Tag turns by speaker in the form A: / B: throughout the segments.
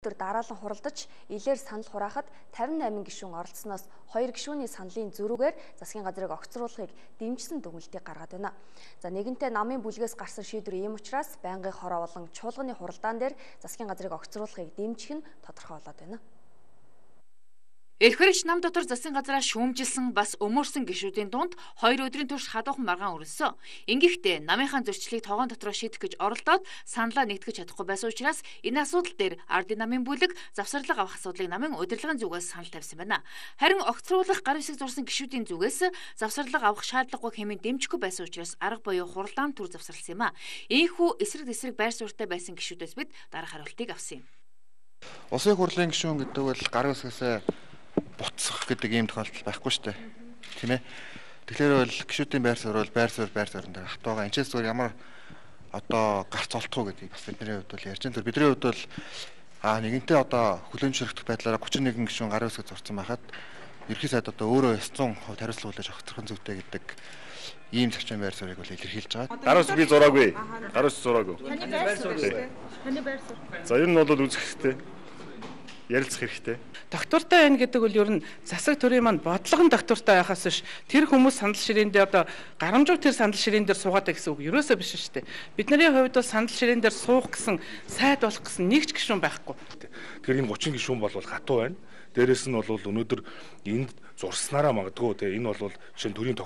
A: өдөр дараалан хуралдаж, илээр санал хураахад 58 гишүүн оролцсноос 2 гишүүний саналын зөрүүгээр засгийн газрыг огцруулахыг дэмжсэн дүгнэлтийг гаргаад байна. За нэгэнтээ намын бүлгээс гарсан шийдвэр ийм учраас байнгын хороо болон чуулганы хуралдаан дээр засгийн газрыг огцруулахыг дэмжих нь тодорхой болоод байна.
B: Эрхвэрэгч нам дотор засгийн газраа шүүмжилсэн бас өмөрсөн гишүүдийн дунд 2 өдрийн турш хадуухан маргаан өрнөсөн. Ингэхдээ намынхаа зөрчлийг тогоон дотроо шийдэх гэж оролдоод саналаа нэгтгэж чадахгүй байсан учраас энэ асуудал дээр ардын намын бүлэг завсарлага авах асуудлыг намын удирдлагын зүгээс санал тавьсан байна. Харин огцруулах гар хэсэг зурсан гишүүдийн зүгээс завсарлага авах шаардлагагүй хэмээн дэмжихгүй байсан учраас арга буюу хуралдаан төр завсарласан юм а. Ийхүү эсрэг тесрэг байр суурьтай байсан гишүүдээс бид дараах хариултыг авсан юм.
C: Улсын хурлын гишүүн гэдэг бол гар хэсгээс буцах гэдэг ийм тохиолдол байхгүй шүү дээ. Тийм ээ. Тэгэхээр бол гишүүдийн байр суурь бол байр суурь дээр хатуугаа энэчээс зүгээр ямар одоо гарц олдох уу гэдгийг бас бидний хувьд бол ярьж байгаа. Бидний хувьд бол нэгэнтээ одоо хүлэмжшөрөх байдлаараа 31 гишүүн гар хэсэг зурсан байхад ерхий сайд одоо өөрөө 100% хариуцлага хүлээж авах зохицох зүйтэй гэдэг ийм зарчим байр суурийг бол илэрхийлж байгаа.
D: Гар хэсэг би зураагүй. Гар хэсэг зураагүй.
E: Таны байр суурь. Таны байр суурь.
D: За энэ нь бол үзэх хэрэгтэй. Ярилцах хэрэгтэй.
F: Доктортой байна гэдэг бол ер нь засаг төрийн маань бодлого нь доктортой байхаас биш тэр хүмүүс санал ширээн дээр одоо гарамжууг тэр санал ширээн дээр суугаад гэсэн үг ерөөсөө биш шүү дээ. Бидний хувьд бол санал ширээн дээр суух гэсэн сайд болох гэсэн нэг ч гишүүн байхгүй.
D: Тэгэхээр энэ 30 гишүүн бол хатуу байна. Дээрээс нь бол өнөөдөр энд зурснараа магадгүй те энэ бол жишээ нь төрийн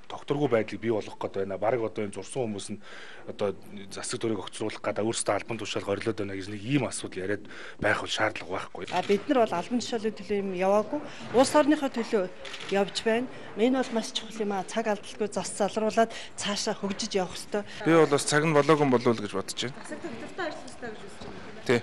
D: докторгүй байдлыг бий болгох гээд байна. Бараг одоо энэ зурсан хүмүүс нь одоо засаг төрийг огцруулах гэдэг өөрсдөө албан тушаал горилоод байна гэж нэг ийм асуудал яриад байх бол шаардлага байхгүй.
G: Бид нар бол албан тушаалын төлөө юм яваагүй. Улс орныхоо төлөө явж байна. Энэ бол маш чухал юм а. Цаг алдалгүй зас залруулад цаашаа хөгжиж явах хэрэгтэй.
C: Би бол бас цаг нь болоогүй болов уу гэж бодож байна.
E: Засаг доктортой ажилластай гэж үзэж байна.
C: Тий.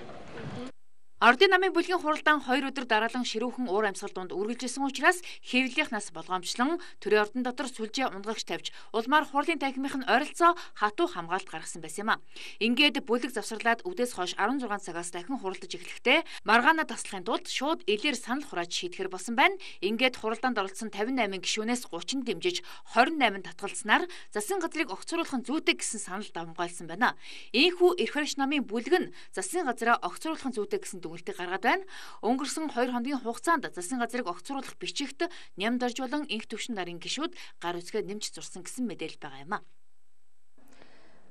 B: Ардын намын бүлгийн хуралдаан 2 өдөр дараалан ширүүхэн уур амьсгал донд үргэлжилсэн учраас хэвлэлийнхнаас болгоомжлон төрийн ордон дотор сүлжээ унгагч тавьж улмаар хурлын танхимынх нь ойролцоо хатуу хамгаалалт гаргасан байсан юм а. Ингээд бүлэг завсарлаад үдээс хойш 16 цагаас дахин хуралдаж эхлэхдээ маргаана таслахын тулд шууд илээр санал хурааж шийдэхэр болсон байна. Ингээд хуралдаанд оролцсон 58 гишүүнээс 30 дэмжиж 28 татгалзнаар засгийн газрыг огцруулахын зүйтэй гэсэн санал давмгайлсан байна. Ийхүү эрхвэрэгч намын бүлэг нь засгийн газраа огцруулахын зүйтэй гэсэн дүгнэлтийг гаргаад байна. Өнгөрсөн 2 хоногийн хугацаанд засгийн газрыг огцруулах бичигт нямдарж болон инх төвшин нарын гишүүд гар үсгээ нэмж зурсан гэсэн мэдээлэл байгаа юм а.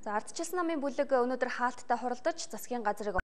A: За ардчилсан намын бүлэг өнөөдөр хаалттай хуралдаж засгийн газрыг